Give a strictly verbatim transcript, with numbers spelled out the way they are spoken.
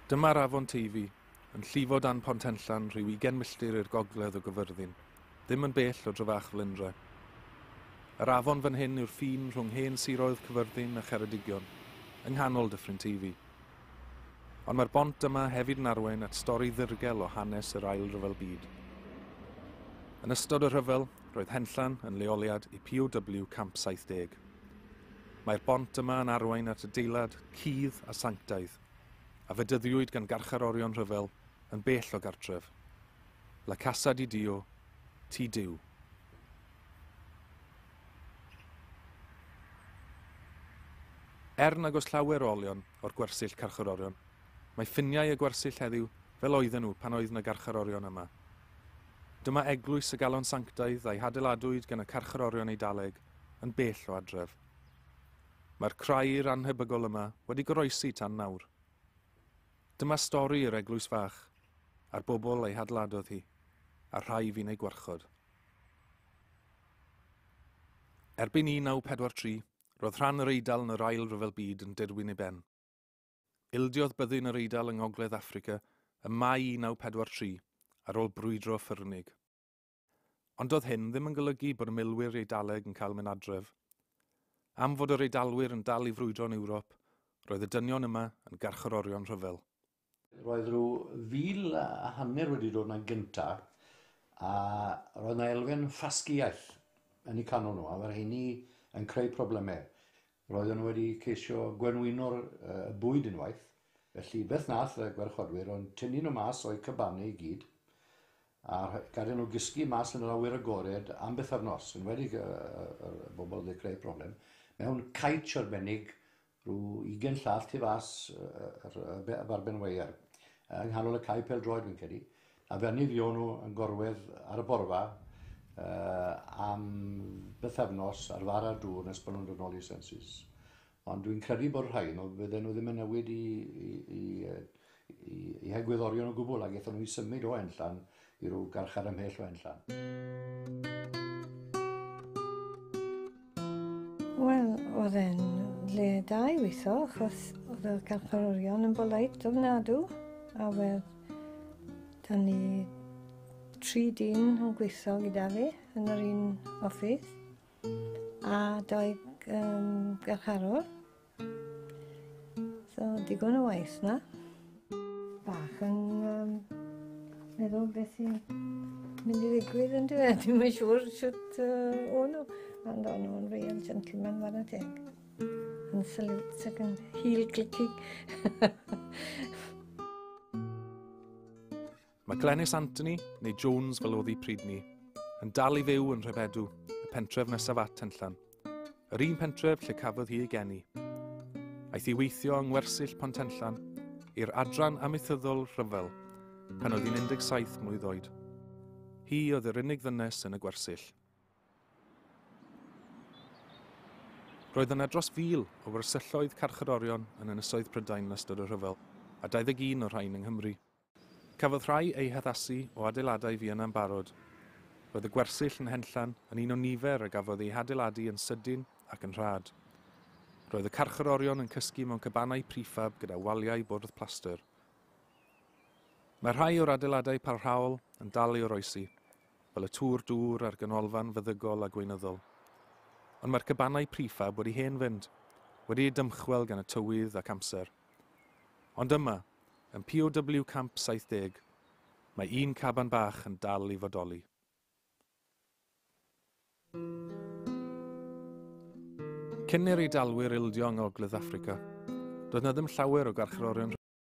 Dyma'r afon Teifi, yn llifo dan Pont Henllan rhyw ugain milltir i'r gogledd o Gyfyrddin, ddim yn bell o Drefach Felindre. Yr afon fan hyn yw'r ffin rhwng hen siroedd Cyfyrddin a Cheredigion, yng nghanol Dyffryn Teifi. Ond mae'r bont yma hefyd yn arwain at stori ddirgel o hanes yr Ail Ryfel Byd. Yn ystod y rhyfel, roedd Henllan yn leoliad i P O W Camp saith deg. Mae'r bont yma yn arwain at adeilad cudd a sanctaidd, a fedyddiwyd gan garcharorion rhyfel yn bell o gartref. La Casa di Dio, Tŷ Duw. Er nag oes llawer o olion o'r gwersyll carcharorion, mae ffiniau y gwersyll heddiw fel oedden nhw pan oedd yna garcharorion yma. Dyma eglwys y Galon Sanctaidd a'i hadeiladwyd gan y carcharorion Eidaleg yn bell o adref. Mae'r crair anhebygol yma wedi goroesi tan nawr. Dyma stori yr eglwys fach, a'r bobl ei hadeiladodd hi, a'r rhai fu'n ei gwarchod. Erbyn un naw pedwar tri, roedd rhan yr Eidal yn yr Ail Ryfel Byd yn dirwyn ei ben. Ildiodd byddin yr Eidal yng Ngogledd Affrica ym Mai un naw pedwar tri ar ôl brwydro ffyrnig. Ond doedd hyn ddim yn golygu bod y milwyr Eidaleg yn cael mynd adref. Am fod yr Eidalwyr yn dal i frwydro yn Ewrop, roedd y dynion yma yn garcharorion rhyfel. Roedd rhyw fil a hanner wedi dod yna gynta, a roedd yna elfen ffasgiaeth yn eu canol nhw, a mae'r rheini yn creu problemau. Roedden nhw wedi ceisio gwenwyno'r uh, bwyd unwaith, felly beth nath y gwarchodwyr ond tynnu nhw mas o'u cabanau i gyd, a gadael nhw gysgu mas yn yr awyr agored am bythefnos, yn wedi y, y, y bobl wedi creu problem, mewn caets arbennig rhyw ugain llath tu fas y farben weiar, yng nghanol y cae pêl-droed fi'n credu, a fe fuon nhw yn gorwedd ar y borfa uh, am bythefnos ar fara dŵr nes bod nhw'n dod nôl i sensus. Ond dwi'n credu bod rhai nhw, fydden nhw ddim yn newid i, i, i, i, i hegwyddorion o gwbl, ac aethon nhw i symud o Henllan i ryw garchar ymhell o Henllan. Wel, oedd e'n le da i weithio, achos oedd y carcharorion yn boleit ofnadw, a wedd da ni tri dyn yn gweithio gyda fi yn yr un office, a dau um, garcharor. So, digon o waith na. Bach yn um, meddwl beth sy'n mynd i ddigwydd yn dweud. Dwi'm yn siŵr shwt uh, o'n nhw. Ond o'n nhw'n real gentleman whare teg. Yn salute ac yn heel clicking. Mae Glenys Anthony, neu Jones fel oedd hi pryd ni, yn dal i fyw yn Rhebedw, y pentref nesaf at Henllan. Yr un pentref lle cafodd hi ei geni. Aeth hi weithio yng Ngwersyll Pont Henllan i'r adran amaethyddol rhyfel pan oedd hi'n un deg saith mlwydd oed. Hi oedd yr unig ddynes yn y gwersyll. Roedd yna dros fil o wersylloedd carcharorion yn Ynysoedd Prydain yn ystod y rhyfel, a dau ddeg un o'r rhain yng Nghymru. Cafodd rhai eu haddasu o adeiladau Fienna'n barod. Roedd y gwersyll yn Henllan yn un o nifer a gafodd ei hadeiladu yn sydyn ac yn rhad. Roedd y carcharorion yn cysgu mewn cabanau prefab gyda waliau bwrdd plastr. Mae rhai o'r adeiladau parhaol yn dal i oroesi, fel y tŵr dŵr a'r ganolfan feddygol a gweinyddol. Ond mae'r cabanau prefab wedi hen fynd, wedi eu dymchwel gan y tywydd ac amser. Ond yma, yn P O W Camp saith deg, mae un caban bach yn dal i fodoli. Cyn i'r Eidalwyr ildio yng Ngogledd Affrica, doedd na ddim llawer o garcharorion